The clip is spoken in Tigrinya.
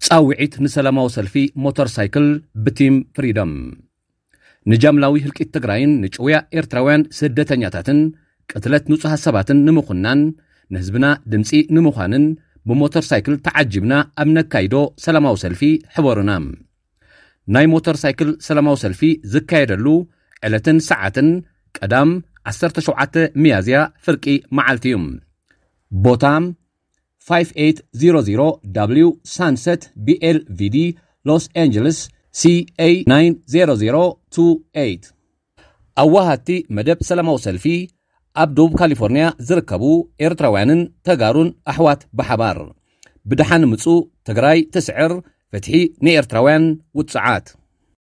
ጻውዒት ንሰላማዊ ሰልፊ ሞተር ሳይክል ብቲም ፍሪደም። ንጃምላዊ ህልቂት ትግራይን ንጭውያ ኤርትራውያን ስደተኛታትን ቅትለት ንጹሃት ሰባትን ንምኹናን፣ ንህዝብና ድምጺ ንምዃንን ብሞተር ሳይክል ተዓጂብና ኣብ ነካይዶ ሰላማዊ ሰልፊ ሕበሩና። ናይ ሞተር ሳይክል ሰላማዊ ሰልፊ ዝካየደሉ ዕለትን ሰዓትን ቀዳም ዓሰርተ ሸውዓተ ሚያዝያ ፍርቂ መዓልቲ እዩ። ቦታ ፋይቭ ኤይት ዜሮ ዜሮ ዳብሊው ሳንሰት ቢ ኤል ቪ ዲ ሎስ ኣንጀለስ ሲ ኤ ናይን ዜሮ ዜሮ ቱ ኤይት። ኣዋሃድቲ መደብ ሰላማዊ ሰልፊ ኣብ ደቡብ ካሊፎርኒያ ዝርከቡ ኤርትራውያንን ተጋሩን ኣሕዋት ብሓባር። ብደሓን ምጹ ትግራይ ትስዕር፣ ፍትሒ ንኤርትራውያን ውጽዓት።